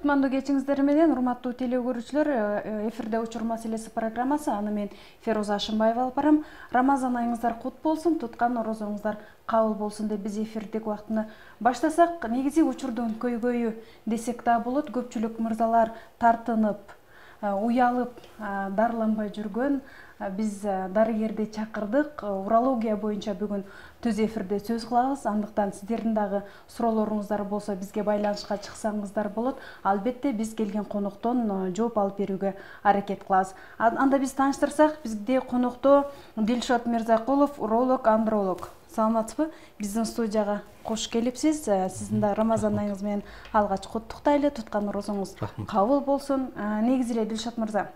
Кутмандуу кечиңиздер менен, урматтуу теле көрүүчүлөр, эфирде Учур маселеси программасы. Аны мен Феруза Ашымбаева алып барам. Рамазан айыңыздар кут болсун, туткан орозоңуздар кабыл болсун деп биз эфирдик убактыны баштасак, негизи учурдун көйгөйү десек да болот. Көпчүлүк мырзалар тартынып, уялып, дарыланбай жүргөн. Биз дарыгерди чакырдык. Урология боюнча бүгүн түз эфирде сөз кылабыз. Андыктан сиздердин дагы суроолоруңуздар болсо бизге байланышка чыксаңыздар болот. Албетте биз келген коноктон жооп алып берүүгө аракет кылабыз. Анда биз тааныштырсак, бизде конокто Дилшот Мирзакулов, уролог, андролог. Саламатсызбы? Биздин студияга кош келипсиз. Сиздин да Рамазан айыңыз менен алгач куттуктайлы, туткан орозоңуз кабыл болсун. Негизи эле Дилшот мырза,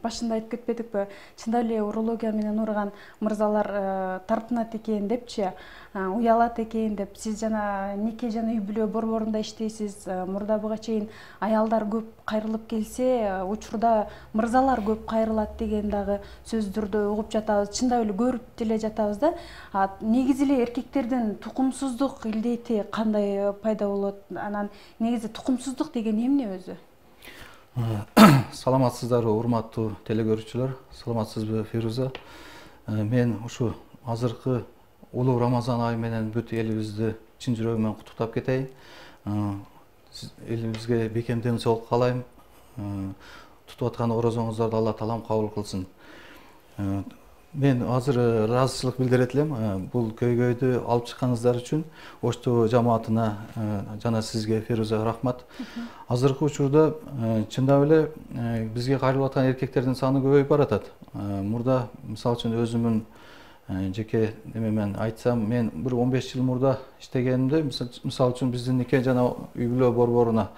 башында айтып кетпедикпи? Чындап эле урология менен ооруган мырзалар тартынат экен депчи, уялат экен деп. Сиз жана нике жана үй бүлө борборунда иштейсиз. Мурда буга чейин аялдар көп кайрылып келсе, учурда мырзалар көп кайрылат деген дагы сөздөрдү угуп жатабыз. Чындап эле көрүп деле жатабыз да. Негизи эле эркектердин тукумсуздук илдети кандай пайда болот? Анан негизи тукумсуздук деген эмне өзү? Саламатсыздарбы, урматтуу теле көрүүчүлөр. Саламатсызбы, Феруза? Мен ушу азыркы улуу Рамазан айы менен бүт элибизди чын жүрөгүмөн куттуктап кетейин. Элибизге бекемдүү соолук каалайм. Тутуп аткан орозоңуздарды Алла таалам кабыл кылсын. Мен азыр ыраазычылык билдирет элем бул көйгөйдү алып чыкканыңыздар үчүн. Ошту жамаатына жана сизге, Феруза, рахмат. Азыркы учурда чындап эле бизге кайрылып аткан эркектердин саны көбөйүп баратат. Мурда мисалы үчүн өзүмдүн жеке немемен айтсам, мен бир 15 жыл мурда иштегенимде, мисалы үчүн биздин нике жана үй бүлө борборуна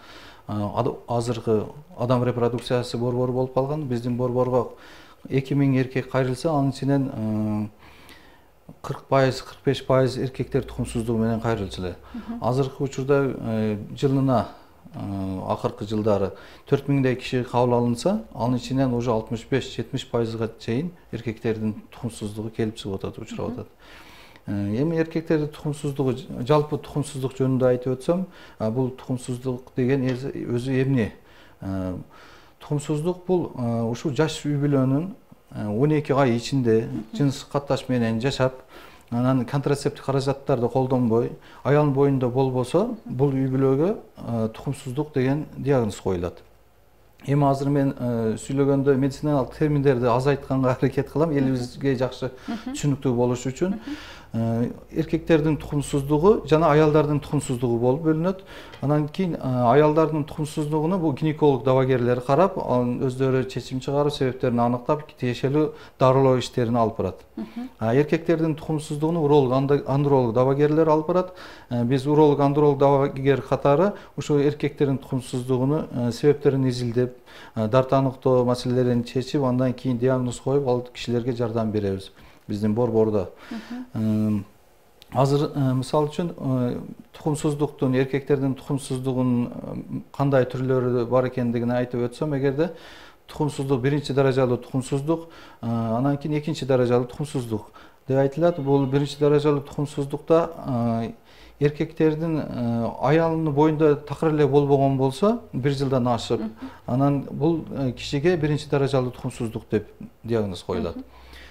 азыркы адам репродукциясы борбору болуп калган. Биздин борборго 2000 эркек кайрылса, анын ичинен 40%, 45% эркектер тукумсуздугу менен кайрылчу эле. Азыркы учурда жылына акыркы жылдары 4000 киши кабыл алынса, анын ичинен уже 65-70%га чейин эркектердин тукумсуздугу келип чыгып атат, учурап атат. Эми эркектердин тукумсуздугу, жалпы тукумсуздук жөнүндө айтып өтсөм, бул тукумсуздук деген өзү эмне? Тукумсуздук бул ушу жаш үй бүлөнүн 12 ай ичинде жыныс катташ менен жашап, анан контрацептик каражаттарды колдонбой, аялдын боюнда болбосо, бул үй бүлөгө тукумсуздук деген диагноз коюлат. Эми азыр мен сүйлөгөндө медициналык терминдерди азайтканга аракет кылам, элибизге жакшы түшүнүктүү болуш үчүн. Эркектердин тукумсуздугу жана аялдардын тукумсуздугу болуп бөлүнөт. Анан кийин аялдардын тукумсуздугуна бул гинеколог дабагерлер карап, анын өздөрү чечим чыгарып, себептерин аныктап, тиешелүү дарылоо иштерин алып барат. Эркектердин тукумсуздугуну уролог, андролог дабагерлер алып барат. Биз уролог, андролог дабагер катары ушу эркектердин тукумсуздугуну себептерин изилдеп, дарт аныктоо маселелерин чечип, андан кийин диагноз коюп, ал кишилерге жардам беребиз. Биздин борбордо. Азыр мисалы үчүн тукумсуздуктун, эркектердин тукумсуздугунун кандай түрлөрү бар экендигин айтып өтсөм, эгерде тукумсуздук биринчи даражалуу тукумсуздук, анан кийин экинчи даражалуу тукумсуздук деп айтылат. Бул биринчи даражалуу тукумсуздукта эркектердин аялынын боюнда такыр эле болбогон болсо, 1 жылдан ашып, анан бул кишиге биринчи даражалуу тукумсуздук деп диагноз коюлат.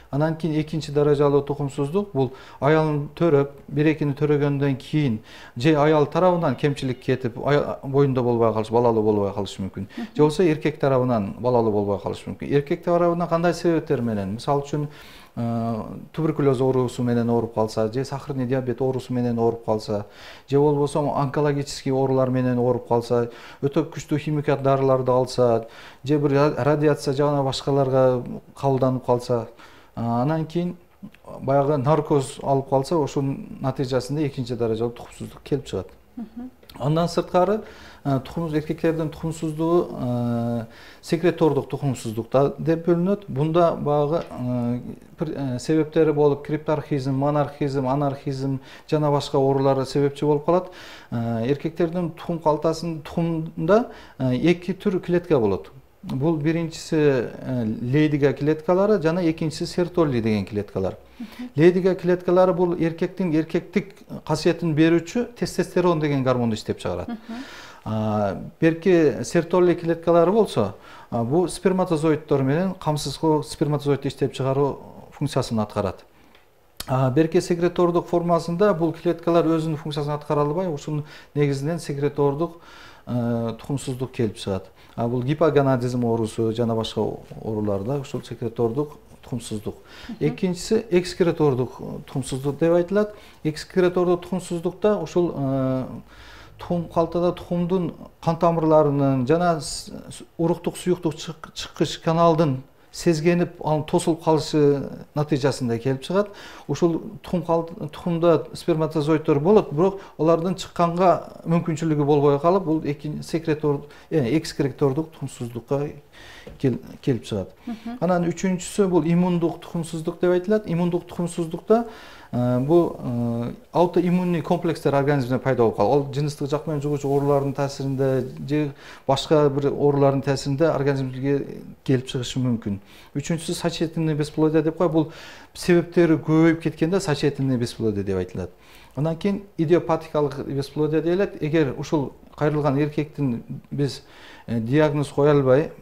Анан кийин экинчи даражалуу тукумсуздук бул аялын төрөп, бир-экини төрөгөндөн кийин же аял тарабынан кемчилик кетип, боюнда болбой калыш, балалуу болбой калышы мүмкүн. Же болбосо эркек тарабынан балалуу болбой калышы мүмкүн. Эркек тарабынан кандай себептер менен? Мисалы үчүн туберкулез оорусу менен ооруп калса, же сахарный диабет оорусу менен ооруп калса, же болбосо онкологический оорулар менен ооруп калса, өтө күчтүү химикат дарыларды алса, же бир радиация жана башкаларга кабылданып калса, анан кийин баягы наркоз алып калса, ошонун натыйжасында экинчи даражалуу тукумсуздук келип чыгат. Андан сырткары эркектердин тукумсуздугу секретордук тукумсуздук деп бөлүнөт. Бунда багы себептери болуп, крипторхизм, монархизм, анархизм жана башка оорулар себепчи болуп калат. Эркектердин тукум калтасынын тукумунда 2 түр клетка болот. Бул биринчиси лейдига клеткалары жана экинчиси сертолли деген клеткалар. Лейдига клеткалары бул эркектик касиетин берүүчү тестостерон деген гормонду иштеп чыгарат. Берки сертолли клеткалары болсо, бул сперматозоиддор менен камсыз сперматозоидди иштеп чыгаруу функциясын аткарат. Берки секретордук формасында бул клеткалар өзүнүн функциясын аткара албай, ушунун негизинен секретордук тукумсуздук келип чыгат. Бул гипоганадизм оорусу жана башка ооруларда ушул секретордук тукумсуздук. Экинчиси экскретордук тукумсуздук деп айтылат. Экскретордук тукумсуздукта ушул тухум калтада тухумдун кан тамырларынын жана уруктук суюктук чыккыч каналдын сезгенип, анын тосулуп калышы натыйжасында келип чыгат. Ушул тухумда сперматозоиддор болот, бирок алардын чыкканга мүмкүнчүлүгү болбой калып, бул экскретордук тукумсуздукка келип чыгат. Анан үчүнчүсү бул иммундук тукумсуздук деп айтылат. Иммундук тукумсуздукта бул аутоиммунный комплекстер организмде пайда болуп калат. Ал жыныстык жак менен жугуучу оорулардын таасиринде же башка бир оорулардын таасиринде организмге келип чыгышы мүмкүн. Үчүнчүсү сочетенный бесплодие деп коет. Бул себептери көбөйүп кеткенде сочетенный бесплодие деп айтылат. Андан кийин идиопатикалык бесплодие дейт. Эгер ушул кайрылган эркектин биз диагноз кое албай,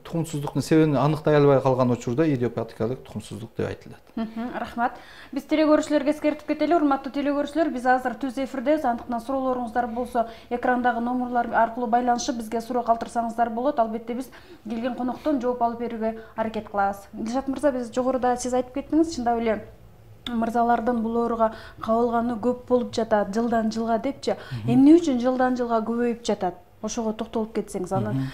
тукумсуздуктун себебин аныктай албай калган учурда идиопатикалык тукумсуздук деп айтылат. Рахмат. Биз телекөрүүчүлөргө эскертип кетели, урматтуу телекөрүүчүлөр, биз азыр түз эфирдебиз. Андыктан суроолоруңуздар болсо, экрандагы номерлар аркылуу байланышып бизге суроо калтырсаңыздар болот. Албетте биз келген коноктон жооп алып берүүгө аракет кылабыз. Дилшат мырза, биз жогоруда сиз айтып кеттиңиз, чындап эле мырзалардын бул ооруга кабылганы көп болуп жатат, жылдан жылга депчи. Эмне үчүн жылдан жылга көбөйүп жатат? Ошого токтолуп кетсеңиз. Анан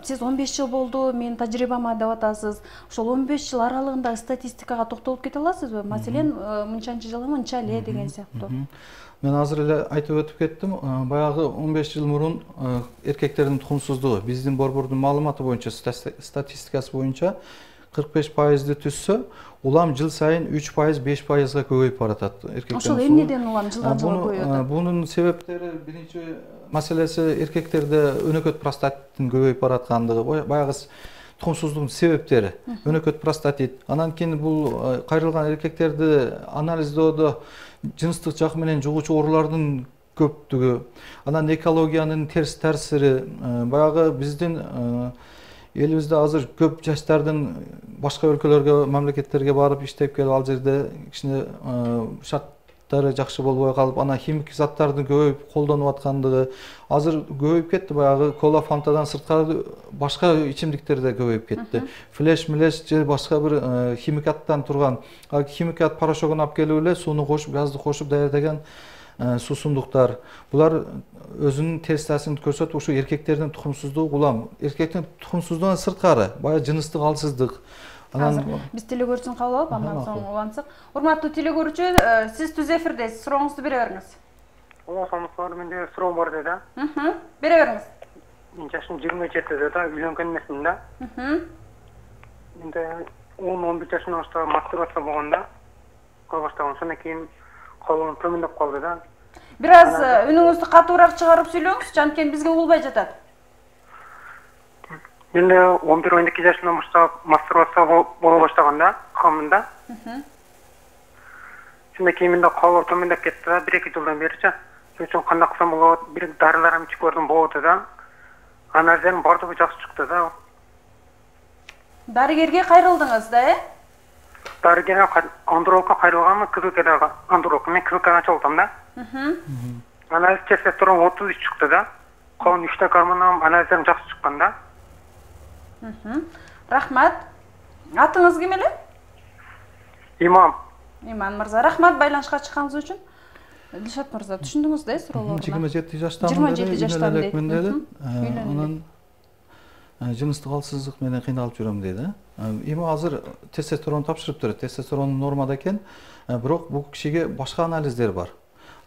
сиз 15 жыл болду, менин тажрыйбама деп атасыз. Ошол 15 жыл аралыгындагы статистикага токтолуп кете аласызбы? Маселен, мынчанчы жылы мынча эле деген сыяктуу. Мен азыр эле айтып өтүп кеттим. Баягы 15 жыл мурун эркектердин тукумсуздугу биздин борбордун маалыматы боюнча, статистикасы боюнча 45%ды түзсө, улам жыл сайын 3%, 5%га көбөйүп баратат эркектердин. Ошол эмнеден улам жылдан жылга көбөйөт? Бунун себептери биринчи маселеси эркектерде өнөкөт простатиттин көбөйүп бараткандыгы, баягы тукумсуздуктун себептери, өнөкөт простатит. Анан кийин бул кайрылган эркектерди анализдоодо жыныстык жак менен жугуучу оорулардын көптүгү, анан экологиянын терс таасири, баягы биздин элибизде азыр көп жаштардын башка өлкөлөргө, мамлекеттерге барып иштеп келип, ал жерде кичине шарттары жакшы болбой калып, анан химик заттардын көбөйүп колдонуп аткандыгы, азыр көбөйүп кетти. Баягы кола, фантадан сырткары башка ичимдиктер да көбөйүп кетти. Флеш, милеш же башка бир химикаттан турган, химикат порошогун алып келип эле сууну кошуп, газды кошуп даярдаган суусундуктар. Булар өзүнүн терс таасирин көрсөтүп, ушу эркектердин тукумсуздугу улам, эркектин тукумсуздугунан сырткары, баягы жыныстык алсыздык. Азыр биз телекөрүүчүн кабыл алып, андан соң улантсак. Урматтуу телекөрүүчү, сиз түз эфирдесиз, сурооңузду бере бериңиз. Саламатсыздар, менде суроо бар да. Бере бериңиз. Мен жашым 27 да, үйлөнгөн эмесмин да. Менде 10-11 жашымдан баштап мастурбация болгондо, кыла баштаган, ошондон кийин колум төмөндөп калды да. Бир аз үнүңүздү катуураак чыгарып сүйлөңүзчү, анткени бизге угулбай жатат. Менде 11-12 жашымдан баштап мастурбация боло баштаган да, камында. Ошондон кийин менде колум төмөндөп кетти да, 1-2 жылдан беричи. Ошон үчүн кандай кылсам болот, бир дарыларым ичип көрдүм, болду да. Анализдерим бардыгы жакшы чыкты да. Дарыгерге кайрылдыңыз да, Дарыгерге андурокко кайрылганмын, КВКдагы андурокко. Мен КВКны ачып алдым да. Анализ тестестерон 33 чыкты да. Калган 3 гормоном анализдерим жакшы чыккан да. Рахмат. Атыңыз ким эле? Иман. Иман мырза, рахмат байланышка чыкканыңыз үчүн. Дилшат мырза, түшүндүңүз да суроолорду? 27 жаштамын. 27 жаштамын дейт. Анан жыныстык алсыздык менен кыйналып жүрөм дейт. Эми азыр тестостерон тапшырыптыр. Тестостерон нормада экен, бирок бул кишиге башка анализдер бар.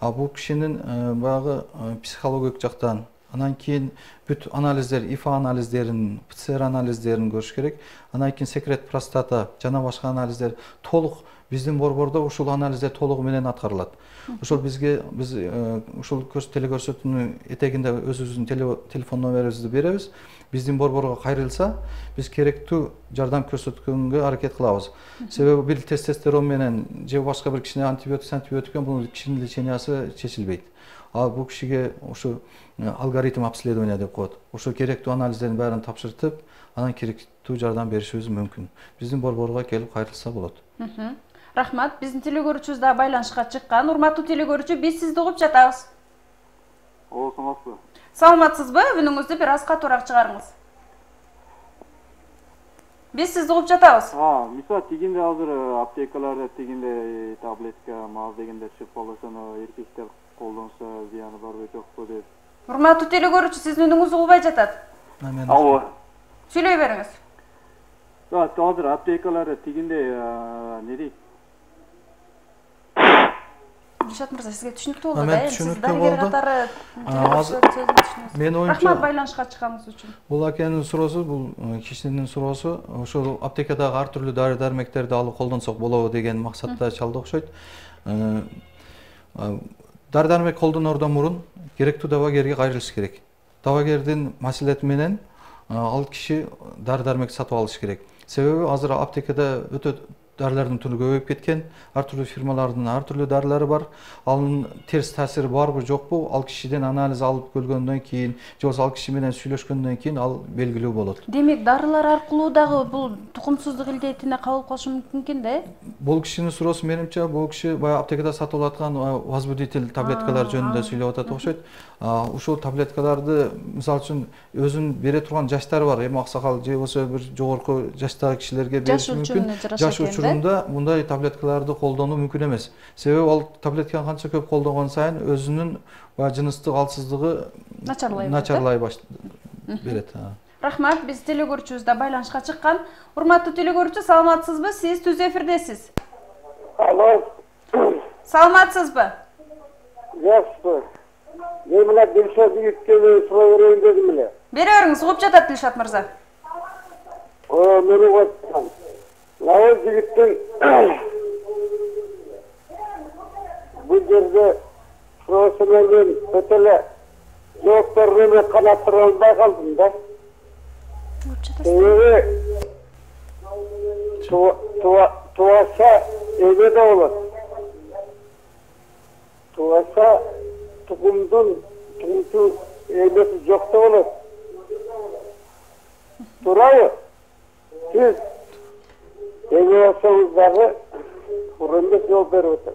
Бул кишинин баягы психологиялык жактан, анан кийин бүт анализдер, ИФА анализдерин, ПЦР анализдерин көрүш керек. Анан кийин секрет простата жана башка анализдер толук биздин борбордо ушул анализдер толугу менен аткарылат. Ошол биз ушул телекөрсөтүүнүн этегинде өзүбүздүн телефон номерибизди беребиз. Биздин борборго кайрылса, биз керектүү жардам көрсөткөнгө аракет кылабыз. Себеби бир тестостерон менен же башка бир кичине антибиотик менен бул кишинин лечениясы чечилбейт. а бул кишиге ушу алгоритм обследования деп коет. Ошо керектүү анализдердин баарын тапшыртып, анан керектүү жардам беришибиз мүмкүн. Биздин борборго келип кайрылса болот. Рахмат. Биздин телекөрүүчүбүз да байланышка чыккан. Урматтуу телекөрүүчү, биз сизди угуп жатабыз. Саламатсызбы? Саламатсызбы? Үнүңүздү бир аз катуураак чыгарыңыз. Биз сизди угуп жатабыз. Мисалы тигинде азыр аптекаларда тигинде таблетка, мал дегенде шифаласа, эркектер колдонсо зыяны барбы жокпу деп. Урматтуу телекөрүүчү, сиздин үнүңүз угулбай жатат. Алло. Сүйлөй бериңиз. Азыр аптекаларда тигинде не дейт? Дилшат мырза, сизге түшүнүктүү болду да? Мен түшүнүктүү болду. Мен оюмча Рахмат байланышка чыкканыңыз үчүн. Бул акенин суроосу, бул кишинин суроосу, ошол аптекадагы ар түрдүү дары-дармектерди алып колдонсок болобу деген максатта чалды окшойт. Дары-дармек колдонордон мурун керектүү дабагерге кайрылыш керек. Дабагердин маселети менен ал киши дары-дармек сатып алыш керек. Себеби азыр аптекада өтө дарылардын түрү көбөйүп кеткен, ар түрдүү фирмалардын ар түрдүү дарылары бар. Анын терс таасири барбы жокпу, ал кишиден анализ алып көргөндөн кийин, же болбосо ал киши менен сүйлөшкөндөн кийин ал белгилүү болот. Демек, дарылар аркылуу дагы бул тукумсуздук илдетине кабыл кылышы мүмкүн да? Бул кишинин суроосу менимче, бул киши баягы аптекада сатып алаткан возбудитель таблеткалар жөнүндө сүйлөп атат окшойт. Ушул таблеткаларды мисалы үчүн өзүнүн бере турган жаштары бар. Эми аксакал же болбосо бир жогорку жаштагы кишилерге бериш мүмкүн. Жаш учурунда мындай таблеткаларды колдонуу мүмкүн эмес. Себеби ал таблетканы канча көп колдонгон сайын өзүнүн жыныстык алсыздыгы начарлай берет. Рахмат, биз телекөрүүчүбүз да байланышка чыккан. Урматтуу телекөрүүчү, саламатсызбы? Сиз түз эфирдесиз. Алло. Саламатсызбы? Жакшы. Мен мына Дилшат жигитке суроо берейин дедим эле. Бере бериңиз, угуп жатат Дилшат мырза. Мен угуп атам. Мына жигиттин бул жерде суроосу менен өтө эле жооп бергенге канааттыра албай калдым да. Себеби тубаса эме да болот. Тубаса тукумдун эмеси жок да болот. Туурабы? Сиз эме болсоңуз дагы урунда жооп берип атам.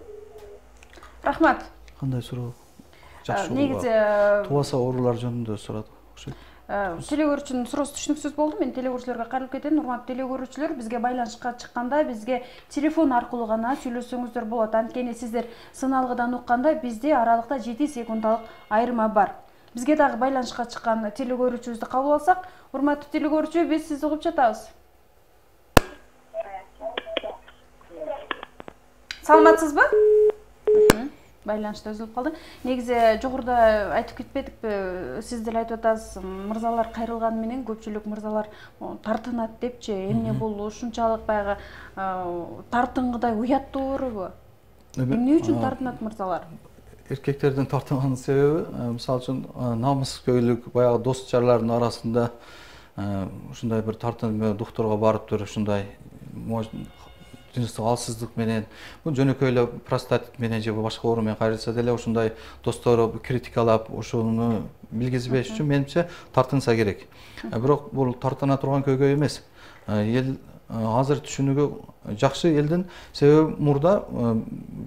Рахмат. Кандай суроо? Жакшы. Негизи тубаса оорулар жөнүндө сурады окшойт. Телекөрүүчүнүн суроосу түшүнүксүз болду. Мен телекөрүүчүлөргө кайрылып кетем. Урматтуу телекөрүүчүлөр, бизге байланышка чыкканда бизге телефон аркылуу гана сүйлөшсөңүздөр болот. Анткени сиздер сыналгыдан укканда бизде аралыкта 7 секундалык айырма бар. Бизге дагы байланышка чыккан телекөрүүчүбүздү кабыл алсак, урматтуу телекөрүүчү, биз сизди угуп жатабыз. Саламатсызбы? Байланышта үзүлүп калды. Негизи жогоруда айтып кетпедикпи, сиз деле айтып атасыз, мырзалар кайрылганы менен көпчүлүк мырзалар тартынат депчи. Эмне бул ушунчалык баягы тартынгыдай уяттуурбу? Эмне үчүн тартынат мырзалар? Эркектердин тартынганын себеби, мисалы үчүн намыскөйлүк, баягы дос жарлардын арасында ушундай бир тартынып докторго барып туруп ушундай жыныстык алсыздык менен, бул жөнөкөй эле простатит менен же башка оору менен кайрылса деле ушундай достору критикалап, ошону билгизбеш үчүн менимче тартынса керек. Бирок бул тартына турган көйгөй эмес. Эл азыр түшүнүгү жакшы элдин, себеби мурда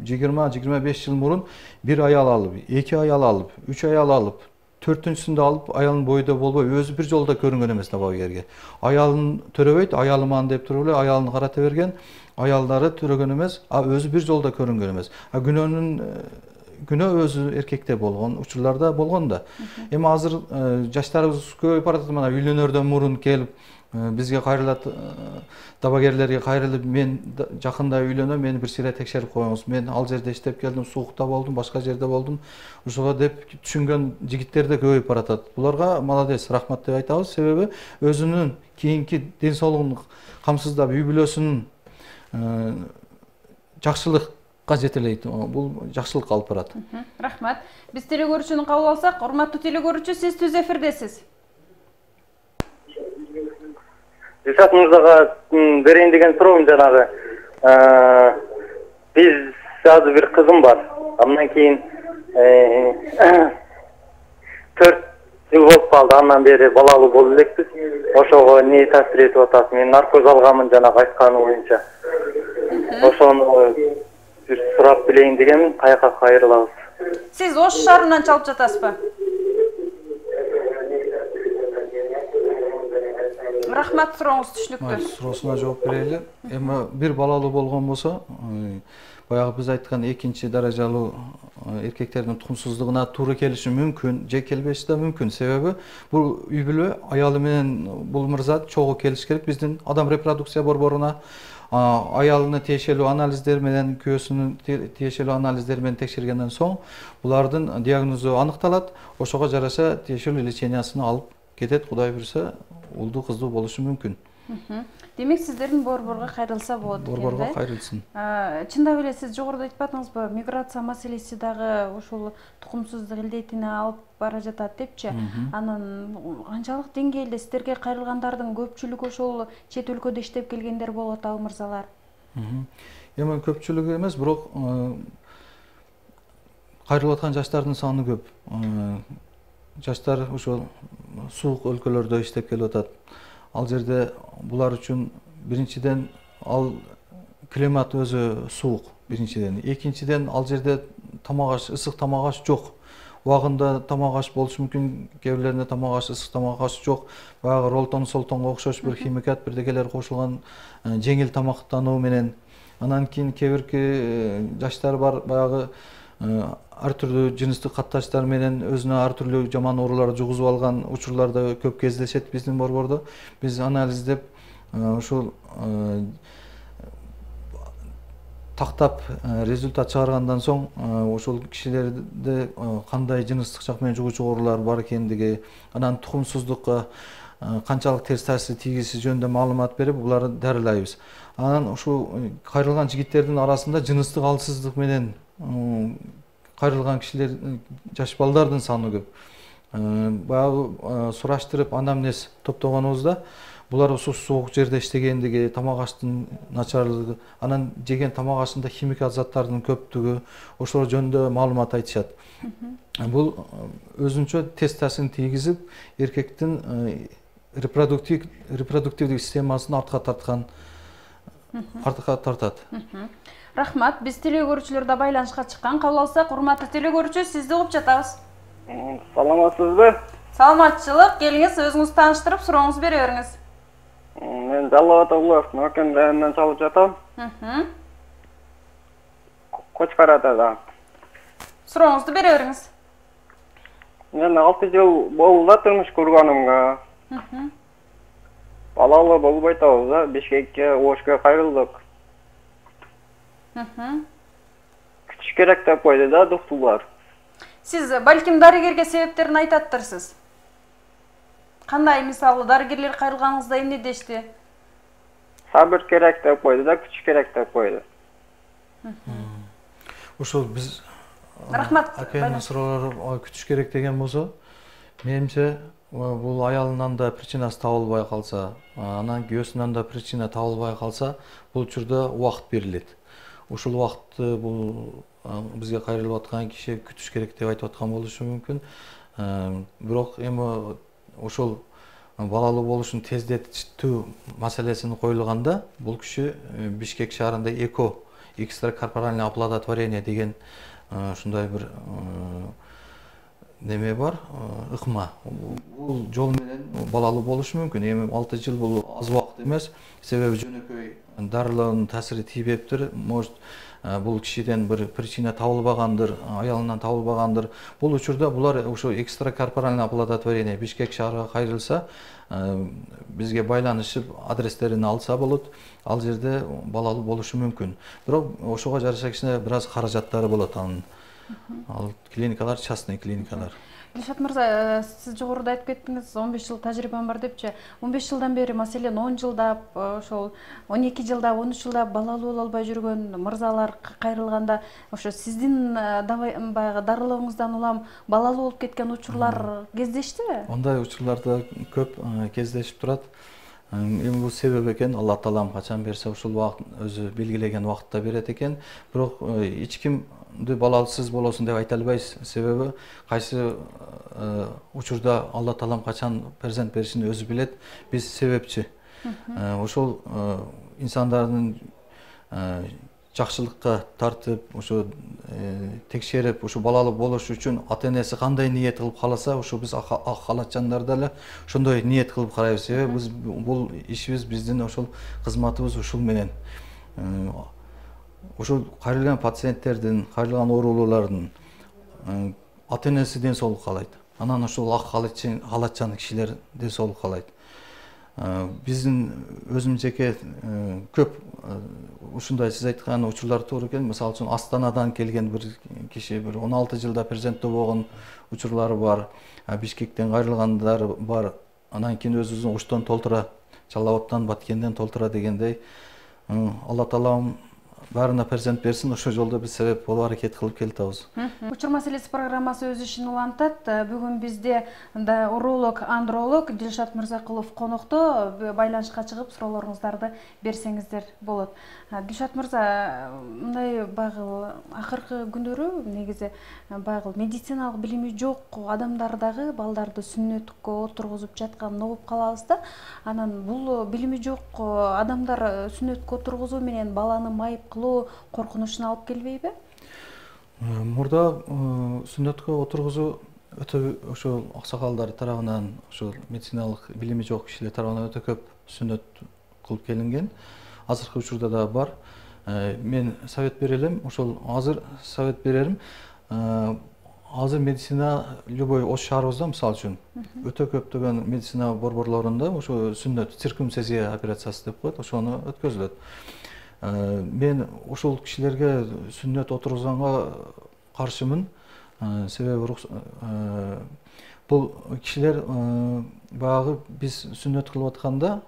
20-25 жыл мурун бир аял алып, 2 аял алып, 3 аял алып, 4-түнчүсүндө алып, аялдын бойдо болбой, өзү бир жолдо көрүнгөн эмес дабагерге. Аялын төрөбөйт, аялыман деп туруп эле аялын карата берген, аялдары төрөгөн эмес, өзү бир жолдо көрүнгөн эмес. Күнөө өзү эркекте болгон, учурларда болгон да. Эми азыр жаштарыбыз көбөйүп баратат, мына үйлөнөрдөн мурун келип бизге кайрылат, дабагерлерге кайрылып, мен жакында үйлөнөм, мени бир сыйра текшерип коюңуз. Мен ал жерде иштеп келдим, суукта болдум, башка жерде болдум. Ошого деп түшүнгөн жигиттер да көбөйүп баратат. Буларга молодец, рахмат деп айтабыз. Себеби өзүнүн кийинки ден соолугун камсыздап, үй бүлөсүнүн жакшылыкка жетелейт. Бул жакшылыкка алып барат. Рахмат. Биз телекөрүүчүнү кабыл алсак, урматтуу телекөрүүчү, сиз түз эфирдесиз. Дилшат мырзага берейин деген суроом жанагы. Биз азыр бир кызым бар. Андан кийин 4 жыл болуп калды, андан бери балалуу болуп элекпиз. Ошого эмне таасир этип атат? Мен наркоз алганмын жанагы айтканы боюнча. Ошону бир сурап билейин дегенмин, каяка кайрылабыз. Сиз Ош шаарынан чалып жатасызбы? Рахмат, сурооңуз түшүнүктүү. Суроосуна жооп берели. Эми бир балалуу болгон болсо, баягы биз айткан экинчи даражалуу эркектердин тукумсуздугуна туура келиши мүмкүн, же келбеши да мүмкүн. Себеби бул үй бүлө аялы менен бул мырза чогуу келиш керек. Биздин адам репродукция борборуна аялына тиешелүү анализдер менен, күйөөсүнүн тиешелүү анализдери менен текшергенден соң булардын диагнозу аныкталат. Ошого жараша тиешелүү лечениясын алып кетет. Кудай буйруса, улдуу кыздуу болушу мүмкүн. Демек сиздердин борборго кайрылса болот экен. Борборго кайрылсын. Чындап эле сиз жогоруда айтып атыңызбы, миграция маселеси дагы ушул тукумсуздук илдетине алып бара жатат депчи. Анан канчалык деңгээлде сиздерге кайрылгандардын көпчүлүгү ошол чет өлкөдө иштеп келгендер болуп атабы мырзалар? Эми көпчүлүгү эмес, бирок кайрылып аткан жаштардын саны көп. Жаштар ошол суук өлкөлөрдө иштеп келип атат. Ал жерде булар үчүн биринчиден ал климат өзү суук, биринчиден. Экинчиден ал жерде тамак аш, ысык тамак аш жок. Убагында тамак аш болушу мүмкүн, кээ бирлеринде тамак аш, ысык тамак аш жок. Баягы ролтон солтонго окшош бир химикат, бирдекелер кошулган жеңил тамактануу менен. Анан кийин кээ бирки жаштар бар, баягы ар түрдүү жыныстык катташтар менен өзүнө ар түрдүү жаман ооруларды жугузуп алган учурлар да көп кездешет биздин борбордо. Биз анализдеп ушул тактап результат чыгаргандан соң ошол кишилерде кандай жыныстык жак менен жугуучу оорулар бар экендиги, анан тукумсуздукка канчалык терс таасир тийгизи жөнүндө маалымат берип, буларды дарылайбыз. Анан ушул кайрылган жигиттердин арасында жыныстык алсыздык менен кайрылган кишилер, жаш балдардын саны көп. Баягы сураштырып анамнез топтогонубузда булар ушул суук жерде иштегендиги, тамак аштын начарлыгы, анан жеген тамак ашында химикат заттардын көптүгү, ошол жөнүндө маалымат айтышат. Бул өзүнчө терс таасирин тийгизип, эркектин репродуктивдик системасын артка тартат. Рахмат, биз телекөрүүчүлөр да байланышка чыккан. Кабыл алсак, урматтуу телекөрүүчү, сизди угуп жатабыз. Саламатсызбы? Саламатчылык, келиңиз, өзүңүздү тааныштырып, сурооңузду бере бериңиз. Мен Жалал Аталыев Нөкен районунан чалып жатам. Кочкарадада. Сурооңузду бере бериңиз. Мен 6 жыл болду да турмуш курганымга. Балалуу болбой атабыз да, Бишкекке, Ошко кайрылдык. Күтүш керек деп койду да доктурлар. Сиз балким дарыгерге себептерин айтаттырсыз. Кандай, мисалы, дарыгерлер кайрылганыңызда эмне дешти? Сабыр керек деп койду да, күтүш керек деп койду. Ушул биз Рахмат. Акайдын суроолору күтүш керек деген болсо, менимче бул аялынан да причинасы табылбай калса, анан күйөөсүнөн да причина табылбай калса, бул учурда убакыт берилет. Ушул убакытты бул бизге кайрылып аткан киши күтүш керек деп айтып аткан болушу мүмкүн. Бирок эми ошол балалуу болушун тездетүү маселесин коюлганда, бул киши Бишкек шаарында ЭКО, экстракорпоральное оплодотворение деген ушундай бир неме бар, ыкма. Бул жол менен балалуу болушу мүмкүн. Эми 6 жыл бул аз убакыт эмес, себеби жөнөкөй дарылоонун таасири тийбептир. Может, бул кишиден бир причина табылбагандыр, аялынан табылбагандыр. Бул учурда булар ошо экстракорпоральное оплодотворение Бишкек шаарына кайрылса, бизге байланышып адрестерин алса болот. Ал жерде балалуу болушу мүмкүн. Бирок ошого жараша кичине бир аз каражаттары болот анын. Ал клиникалар, частный клиникалар. Дилшат мырза, сиз жогоруда айтып кеттиңиз, 15 жыл тажрыйбам бар депчи. 15 жылдан бери, маселен 10 жылдап, ошол 12 жылдап, 13 жылдап балалуу боло албай жүргөн мырзалар кайрылганда, ошо сиздин баягы дарылооңуздан улам балалуу болуп кеткен учурлар кездештиби? Ондай учурларда көп кездешип турат. Эми бул себеп экен, Алла Таалам качан берсе ушул убакыт өзү белгилеген убакытта берет экен. Бирок эч ким балалысыз болосун деп айта албайбыз. Себеби кайсы учурда Алла Таалам качан перзент беришин өзү билет. Биз себепчи. Ошол инсандардын жакшылыкка тартып, ошо текшерип, ошо балалуу болуш үчүн ата-энеси кандай ниет кылып кааласа, ошо биз ак халатчандар деле ошондой ниет кылып карайбыз. Себеби биз бул ишибиз, биздин ошол кызматыбыз ушул менен. Ошол кайрылган пациенттердин, кайрылган оорулуулардын ата-энеси ден соолук каалайт. Анан ошол ак халатчан кишилер ден соолук каалайт. Биздин өзүм жеке көп ушундай сиз айткан учурлар туура экен. Мисалы үчүн Астанадан келген бир киши бир 16 жылда перзенттүү болгон учурлары бар. Бишкектен кайрылгандар бар. Анан кийин өзүбүздүн Оштон толтура, Чала Абадтан, Баткенден толтура дегендей. Алла Таалам баарына перзент берсин. Ошол жолдо биз себеп болуп аракет кылып келатабыз. Учур маселеси программасы өз ишин улантат. Бүгүн бизде уролог, андролог Дилшат Мырзакулов конокто. Байланышка чыгып суроолоруңуздарды берсеңиздер болот. Дилшат Мырза, мындай багыл акыркы күндөрү негизи багыл медициналык билими жок адамдардагы балдарды сүннөткө отургузуп жатканын угуп калабыз да. Анан бул билими жок адамдар сүннөткө отургузуу менен баланы майып кылуу коркунучуна алып келбейби? Мурда сүннөткө отургузуу өтө ошол аксакалдар тарабынан, ошол медициналык билими жок кишилер тарабынан өтө көп сүннөт кылып келинген. Азыркы учурда да бар. Мен совет берелим, ошол азыр совет берерим. Азыр медицина любой ош шаарыбызда, мисалы үчүн, өтө көптөгөн медицина борборлорунда ошо сүннөт, циркумцизия операциясы деп коет, ошону өткөзүлөт. Мен ошол кишилерге сүннөт отургузганга каршымын. Себеби бул кишилер баягы биз сүннөт кылып атканда,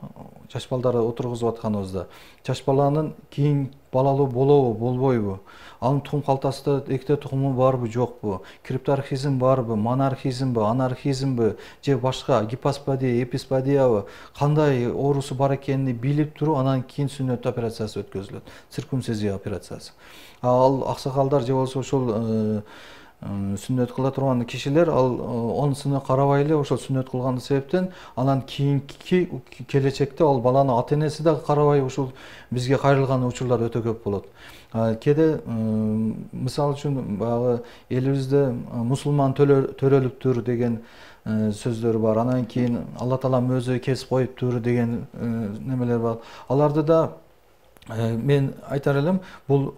жаш балдарды отургузуп атканыбызда, жаш баланын кийин балалуу болобу, болбойбу? Анын тукум калтасында экте тукуму барбы, жокпу? Крипторхизм барбы, монархизмби, анархизмби, же башка гипоспадия, эписпадиябы, кандай оорусу бар экенин билип туруп, анан кийин сүннөт операциясы өткөзүлөт. Циркумцизия операциясы. Ал аксакалдар же болбосо ошол сүннөт кыла турган кишилер онусуна карабай эле ошол сүннөт кылган себептен анан кийинки келечекте ал баланы ата-энеси да карабай ушул бизге кайрылган учурлар өтө көп болот. Кээде мисалы үчүн баягы элибизде мусулман төрөлүптүр деген сөздөр бар. Анан кийин Алла Таалам өзү кесип коюптур деген немелер бар. Аларды да мен айтар элем, бул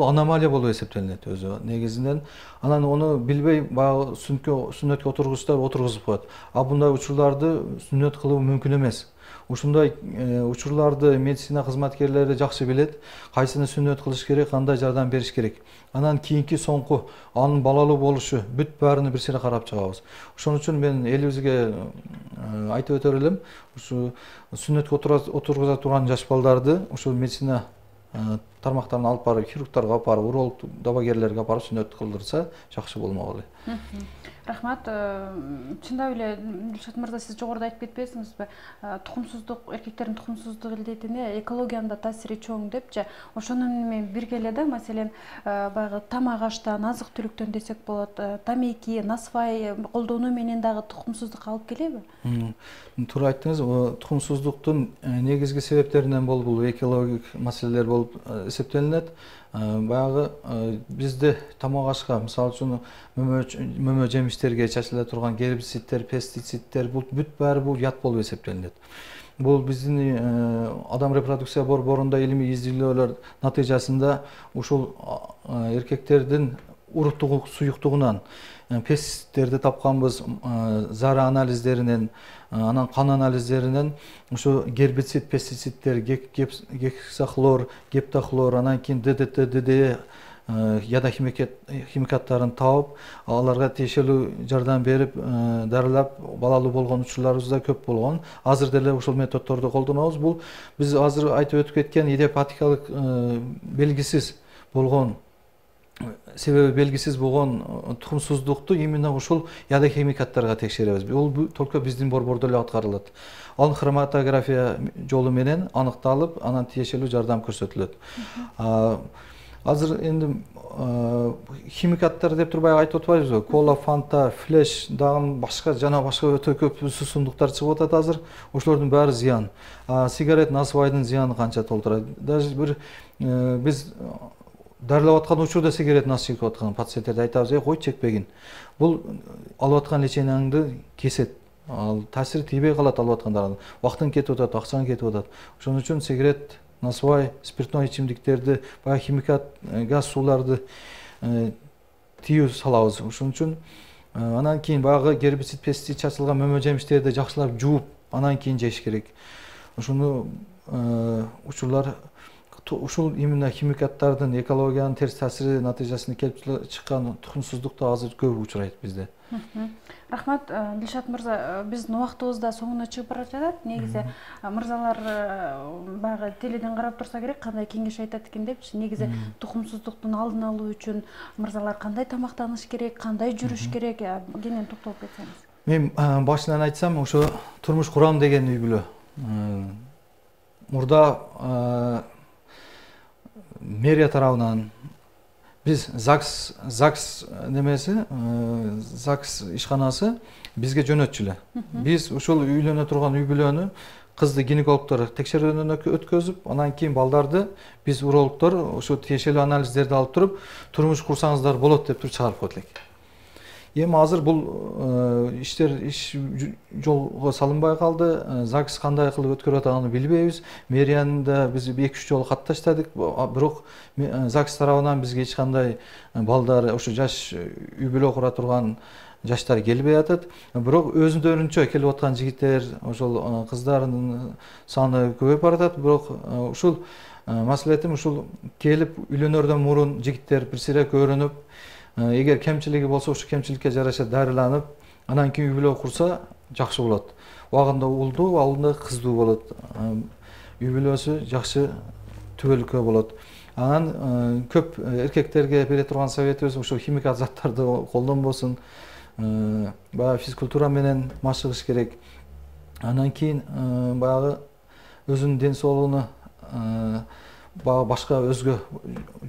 аномалия болуп эсептелинет өзү негизинен. Анан ону билбей баягы сүннөткө отургузуштар отургузуп коет. Bunday учурларды сүннөт кылуу мүмкүн эмес. Ушундай учурларды медицина кызматкерлери жакшы билет, кайсыны сүннөт кылыш керек, кандай жардам бериш керек. Анан кийинки соңку анын балалуу болушу бүт баарына бир сыйра карап чыгабыз. Ошон үчүн мен элибизге айтып өтөр элем, ушу сүннөткө отургуза турган жаш балдарды ушул медицина тармактарына алып барып, хирургтарга алып барып, уролог дабагерлерге алып барып сүннөт кылдырса жакшы болмок эле. Рахмат. Чындап эле Дилшат Мырза, сиз жогоруда айтып кетпесиңизби? Тукумсуздук, эркектердин тукумсуздук илдетине экологиянын да таасири чоң депчи. Ошону менен бирге эле да, маселен, баягы тамак аштан, азык-түлүктөн десек болот, тамеки, насвай колдонуу менен дагы тукумсуздукка алып келеби? Туура айттыңыз. Тукумсуздуктун негизги себептеринен бул экологик маселелер болуп эсептелинет. Баягы бизде тамак ашка, мисалы үчүн мөмө жемиштерге чачыла турган гербицидтер, пестицидтер, бул бүт баары бул ят болуп эсептелинет. Бул биздин адам репродукция борборунда илимий изилдөөлөр натыйжасында ушул эркектердин уруттугу суюктугунан пестицидтерди тапканбыз, зара анализдеринен, анан кан анализдеринен ушу гербицид, пестицидтер, гексахлор, гептахлор, анан кийин ДДТ, ДДЕ яда химикаттарын таап, аларга тиешелүү жардам берип, дарылап, балалуу болгон учурларыбыз да көп болгон. Азыр деле ушул методдорду колдонобуз. Бул биз азыр айтып өтүп кеткен идиопатикалык белгисиз болгон, себеби белгисиз болгон тукумсуздукту именно ушул яда химикаттарга текшеребиз. Бул только биздин борбордо эле аткарылат. Ал хроматография жолу менен аныкталып, анан тиешелүү жардам көрсөтүлөт. азыр энди химикаттар деп туруп баягы айтып атпайбызбы? Кола, фанта, флеш, дагы башка жана башка өтө көп суусундуктар чыгып атат азыр. Ошолордун баары зыян. Сигарет, насыбайдын зыяны канча толтурат. Даже бир биз дарылап аткан учурда сигарет нас чегип аткан пациенттерди айтабыз, кой чекпегин. Бул алып аткан леченияңды кесет. Ал таасири тийбей калат алып аткандарга. Убактың кетип атат, акчаң кетип атат. Ошон үчүн сигарет, насыбай, спиртной ичимдиктерди, баягы химикат, газ сууларды тыюу салабыз. Ошон үчүн анан кийин баягы гербицид, пестицид чачылган мөмө жемиштерди жакшылап жууп, анан кийин жеш керек. Ошону учурлар ушул именно химикаттардын экологиянын терс таасири натыйжасында келип чыккан тукумсуздукта азыр көп учурайт бизде. Рахмат, Дилшат мырза, биздин убактыбыз да соңуна чыгып бара жатат. Негизи мырзалар баягы теледен карап турса керек, кандай кеңеш айтат экен депчи. Негизи тукумсуздуктун алдын алуу үчүн мырзалар кандай тамактаныш керек, кандай жүрүш керек, кенен токтолуп кетсеңиз. Мен башынан айтсам, ошо турмуш курам деген үй бүлө. Мурда мэрия тарабынан биз ЗАГС немеси, ЗАГС ишканасы бизге жөнөтчү эле. Биз ушул үйлөнө турган үй бүлөнү кызды гинекологдор текшерүүдөн өткөзүп, анан кийин балдарды биз урологдор ошо тиешелүү анализдерди алып туруп, турмуш курсаңыздар болот деп туруп чыгарып койдук элек. Эми азыр бул иш жолго салынбай калды. ЗАГС кандай кылып өткөрүп атганын билбейбиз. Мэриянын да биз 2-3 жолу кат таштадык. Бирок ЗАГС тарабынан бизге эч кандай балдар, ошо жаш үй бүлө кура турган жаштар келбей атат. Бирок өзүндөрүнчө келип аткан жигиттер, ошол кыздардын саны көбөйүп баратат. Бирок ушул маселетим ушул келип үйлөнөрдөн мурун жигиттер бир сире көрүнүп, эгер кемчилиги болсо ушул кемчиликке жараша дарыланып, анан кийин үй бүлө курса жакшы болот. Убагында уулдуу, убагында кыздуу болот. Үй бүлөсү жакшы түбөлүккө болот. Анан көп эркектерге бере турган советибиз ушул химикат заттарды колдонбосун. Баягы физкультура менен машыгыш керек. Анан кийин баягы өзүнүн ден соолугуна башка өзгө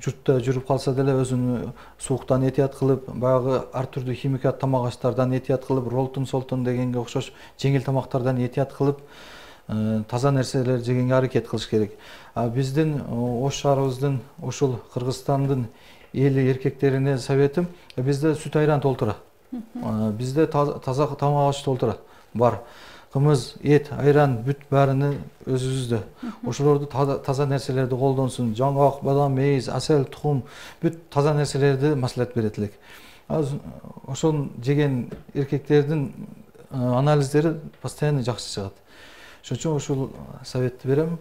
журтта жүрүп калса деле өзүн сууктан этият кылып, баягы ар түрдүү химикат тамак аштардан этият кылып, ролтун солтун дегенге окшош жеңил тамактардан этият кылып, таза нерселер жегенге аракет кылыш керек. Биздин Ош шаарыбыздын, ушул Кыргызстандын эли эркектерине советим, бизде сүт айран толтура. Бизде таза тамак аш толтура. Бар. Кымыз, эт, айран, бүт баарыны өзүбүздө. Ошолорду таза нерселерди колдонсун. Жаңгак, бадам, мейиз, асел, тукум, бүт таза нерселерди маслихат берет элек. Ошон жеген эркектердин анализдери постоянно жакшы чыгат. Ошон үчүн ушул советти берем.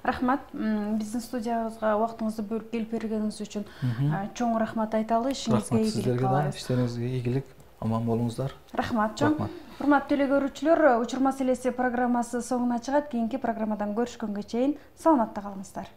Рахмат, биздин студиябызга убактыңызды бөлүп келип бергениңиз үчүн чоң рахмат айталы. Ишиңизге ийгилик каалайбыз. Иштериңизге ийгилик, аман болуңуздар. Рахмат чоң. Урматтуу телекөрүүчүлөр, Учур маселеси программасы соңуна чыгат. Кийинки программадан көрүшкөнгө чейин саламатта калыңыздар.